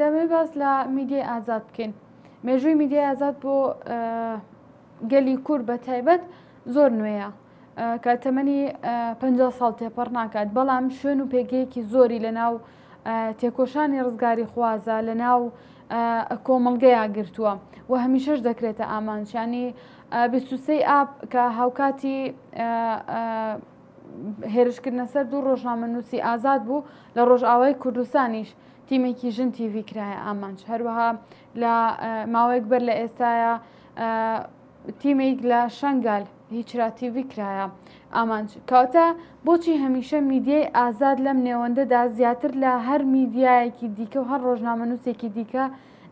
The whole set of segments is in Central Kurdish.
دەمەوێت باس لە میدیای ئازاد بکەین. مێژووی میدیای ئازاد بۆ گەلی کورد بە تایبەت زۆر نوێیە کە تەمەنی 50 ساڵ تێپەڕ ناکات بەڵام شوێن و پێگەیەکی زۆری لە ناو تێکۆشانی ڕزگاری خوازە لە ناو کۆمەڵگەیا گرتووە و هەمیشەش دەکرێتە ئامانجیانی 23 ئاب کە هاوکاتی هێرشکردنە سەر دوو ڕۆژنامەنووسی ئازاد بوو لە ڕۆژئاوای کوردستانیش تیمێکی ژن تیڤی کرایە ئامانج هەروەها لە ماوەیەک بەر لە ئێستاە تیمێک لە شنگال هیچرا تیڤی کرایە ئامانج کەواتە بۆچی هەمیشە میدیای ئازاد لەم نێوەندەدا زیاتر لە هەر میدیایەکی دیکە و هەر ڕۆژنامەنووسێکی دیکە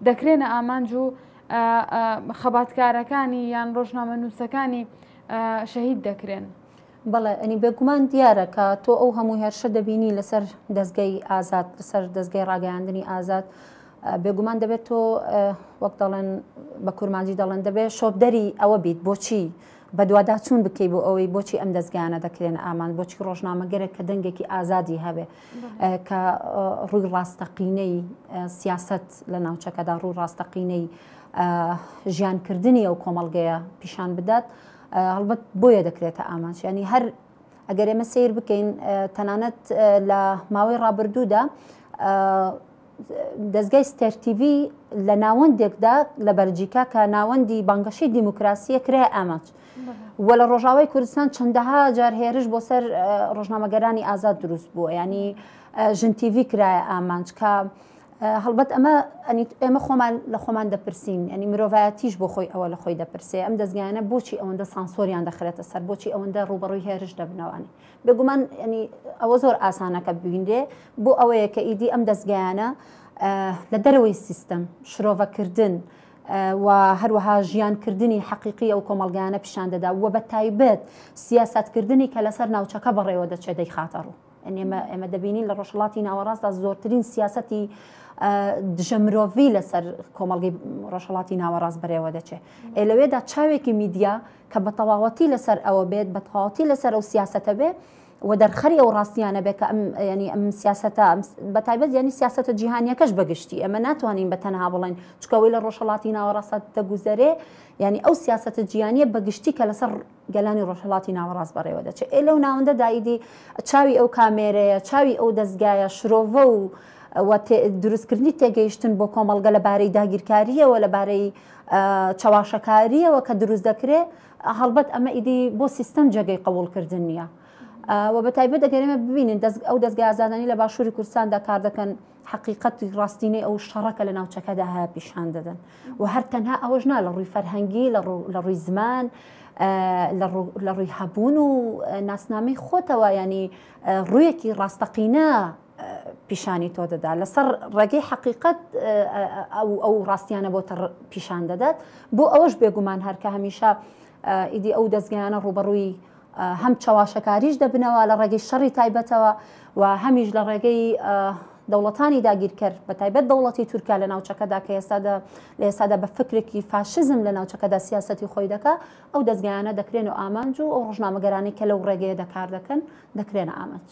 دەکرێنە ئامانج و خەباتکارەکانی یان ڕۆژنامەنووسەکانی شەهید دەکرێن؟ بەڵێ ئەنی بێگومان دیارە کە تۆ ئەو هەموو هێرشە دەبینی لەسەر دەستگەی ئازاد لەسەر دەستگەی ڕاگەیاندنی ئازاد بێگومان دەبێت تۆ وەک دەڵێن بە کورمانجی دەڵێن دەبێت شۆپدەری ئەوە بیت بۆچی بەدواداچوون بکەی بۆ ئەوەی بۆچی ئەم دەستگایانە دەکرێن ئامان بۆچی ڕۆژنامەگەرێک کە دەنگێکی ئازادی هەبێ کە ڕووی ڕاستەقینەی سیاست لە ناوچەکەدا ڕوو ڕاستەقینەی ژیانکردنی ئەو کۆمەڵگەیە پیشان بدات هەڵبەت بۆیە دەکرێتە ئامانج ینی هەر ئەگەر ئێمە سیر بکەین تەنانەت لە ماوەی ڕابردوودا دەستگای ستێرتیڤی لە ناوەندێکدا لە بەلجیکا کە ناوەندی بانگەشەی دیموکراسیە کرای ئامانج و لە ڕۆژاوای کوردستان چەندەها جار هێرش بۆ سەر ڕۆژنامەگەرانی ئازاد دروست بووە ینی ژن تیڤی کرایە ئامانج کە هەڵبەت ئەمە ئێمە خۆمان لە خۆمان دەپرسین ینی مرۆڤایەتیش بۆ خۆی ئەوە لە خۆی دەپرسێ ئەم دەستگایانە بۆچی ئەوەندە سانسۆریان دەخرێتە سەر بۆچی ئەوەندە ڕوبەڕووی هێرش دەبنەوانی بێگومان ینی ئەوە زۆر ئاسانە کە ببینرێ بۆ ئەوەیە کە ئیدی ئەم دەستگایانە لە دەرەوەی سیستەم شرۆڤەکردن و هەروەها ژیانکردنی حەقیقی ئەو کۆمەڵگایانە پیشان دەدا و بە تایبەت سیاسەتکردنی کە لەسەر ناوچەکە بەڕێوە دەچێت دەیخاتە ڕوو. ئێمە ئێمە دەبینین لە ڕۆژهەڵاتی ناوەڕاستدا زۆرترین سیاسەتی دژە مرۆڤی لەسەر کۆمەڵگەی ڕۆژهەڵاتی ناوەڕاست بەرێوە دەچێت. ئێ لەوێدا چاوێکی میدیا کە بە تەواوەتی لەسەر ئەوە بێت، بە تەواوەتی لەسەر ئەو سیاسەتە بێ و دەرخەری ئەو ڕاستیانە بێ کە ئەم یانی ئەم سیاسەتە بە تایبەت یانی سیاسەتە جیهانیەکەش بە گشتی ئێمە ناتوانین بە تەنها بڵێن چونکە ئەوەی لە ڕۆژهەڵاتی ناوەڕاستدا دەگوزەرێ یانی ئەو سیاسەتە جیهانیە بە گشتی کە لەسەر گەلانی ڕۆژهەڵاتی ناوەڕاست بەڕێوە دەچێت ئێ لەو ناوەندەدا ئیدی چاوی ئەو کامێرەیە چاوی ئەو دەستگایە شرۆڤە و و دروستکردنی تێگەیشتن بۆ کۆمەڵگە لەبارەی داگیرکارییەوە لەبارەی چەواشەکارییەوە کە دروست دەکرێ هەڵبەت ئەمە ئیدی بۆ سیستەم جێگەی قبوڵکردن نییە. و بە تایبەت ئەگەر ئێمە ببینین ئەو دەزگا ئازادانەی لە باشووری کوردستاندا کار دەکەن حەقیقەتی ڕاستینەی ئەو شەڕە کە لە ناوچەکەدا هەیە پیشان دەدەن و هەر تەنها ئەوەش نا لە ڕووی فەرهەنگی لە ڕووی زمان لە ڕووی هەبوون و ناسنامەی خۆتەوە ینی ڕوویەکی ڕاستەقینە پیشانی تۆ دەدا لەسەر ڕێگەی حەقیقەت ئەو ئەو ڕاستیانە بۆ پیشان دەدات بۆ ئەوەش بێگومان هەرکە هەمیشە ئیدی ئەو دەستگایانە ڕوبەڕووی هەم چەواشەکاریش دەبنەوە لە ڕێگەی شەڕی تایبەتەوە و هەمیش لە ڕێگەی دەوڵەتانی داگیرکەر بە تایبەت دەوڵەتی تورکیا لە ناوچەکەدا کە ئێستادا لە ئێستادا بە فکرێکی فاشزم لە ناوچەکەدا سیاسەتی خۆی دەکا ئەو دەستگایانە دەکرێن و ئامانج و ئەو ڕۆژنامەگەرانی کە لەو ڕێگەیە دەکار دەکەن دەکرێنە ئامانج.